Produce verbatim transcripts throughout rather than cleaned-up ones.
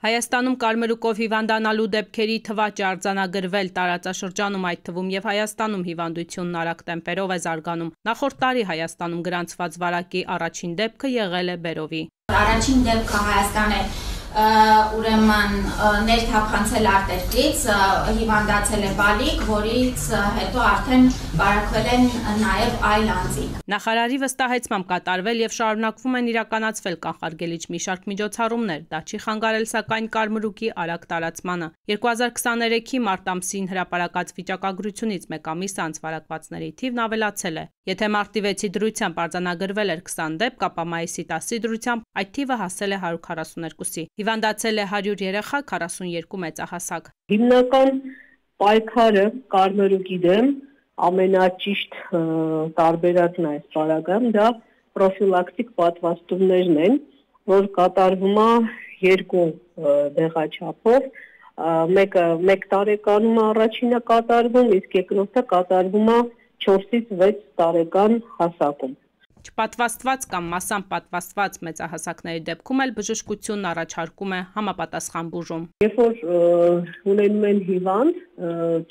Հայաստանում կարմրուկով հիվանդանալու դեպքերի թվաճը արձանագրվել տարածաշրջանում, այդ թվում եւ Հայաստանում հիվանդությունն արագ տեմպերով է զարգանում։ Նախորդ տարի Հայաստանում գրանցված վարակի առաջին դեպքը եղել է բերովի։ Առաջին դեպքը Հայաստան է ուրեմն ներթափանցել արտերկրից, հիվանդացել է բալիկ, որից հետո արդեն վարակվել են նաև այլ անձինք։ Նախարարի վստահեցմամբ կատարվել եւ շարունակվում են իրականացվել կանխարգելիչ մի շարք միջոցառումներ, դա չի խանգարել սակայն կարմրուկի արագ տարածմանը։ երկու հազար քսաներեքի մարտ ամսին հրապարակած վիճակագրությունից մեկ ամիս անց վարակվածների թիվն ավելացել է։ Եթե մարտի վեցի դրությամբ արձանագրվել էր քսան դեպք, ապա մայիսի տասի դրությամբ այդ թիվը հասել է հարյուր քառասուներկուսի։ Հիվանդացել է հարյուր երեխա, քառասունյոթ մեծահասակ։ Հիմնական պայքարը կարմրուկի դեմ ամենաճիշտ տարբերակն այս պարագայում դա պրոֆիլակտիկ պատվաստումներն են, որ կատարվում է երկու դեղաչափով, մեկը մեկ տարեկանում առաջինը կատարվում, իսկ երկրորդը կատարվում է չորսից վեց տարեկան հասակում։ Չպատվաստված կամ մասամբ պատվաստված մեծահասակների դեպքում էլ բժշկությունն առաջարկում է համապատասխան բուժում։ Երբ որ ունենում են հիվանդ,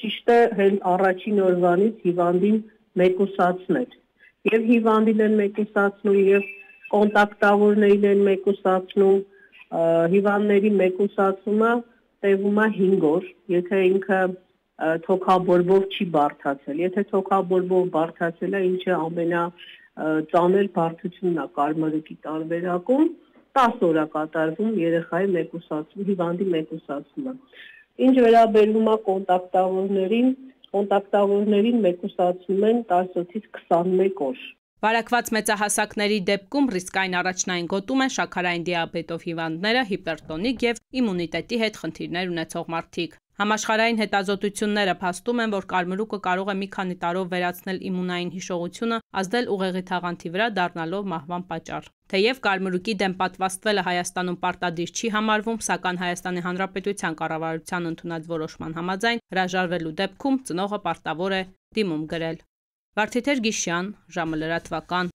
ճիշտ է հենց առաջին օրվանից հիվանդին մեկուսացնել։ Եվ հիվանդին են մեկուսացնում, եւ կոնտակտավորներին են մեկուսացնում, հիվանդների մեկուսացումը տևում է հինգ օր, եթե ինքը թոքաբորբով չի բարդացել։ Եթե թոքաբորբով բարդացել է, ինչը ամենա ծանր բարդությունն է կարմրուկի տարբերակում, տասը օր է կատարվում երեխայի մեկուսացում, հիվանդի մեկուսացումը։ Ինչ վերաբերում է կոնտակտավորներին, կոնտակտավորներին մեկուսացնում են տասնութից քսանմեկ օր։ Վարակված մեծահասակների դեպքում ռիսկային առաջնային գոտում են շաքարային դիաբետով հիվանդները, հիպերտոնիկ եւ իմունիտետի հետ խնդիրներ ունեցող մարդիկ։ Համաշխարհային հետազոտությունները փաստում են, որ կարմրուկը կարող է մի քանի տարով վերացնել իմունային հիշողությունը, ազդել ուղեղի թաղանթի վրա, դառնալով մահվան պատճառ։ Թեև կարմրուկի դեմ պատվաստվելը Հայաստանում պարտադիր չի համարվում, սակայն Հայաստանի Հանրապետության կառավարության ընդունած որոշման համաձայն հրաժարվելու դեպքում ծնողը պարտավոր է դիմում գրել։ Վարդիթեր Գիշյան, ժամը լրատվական։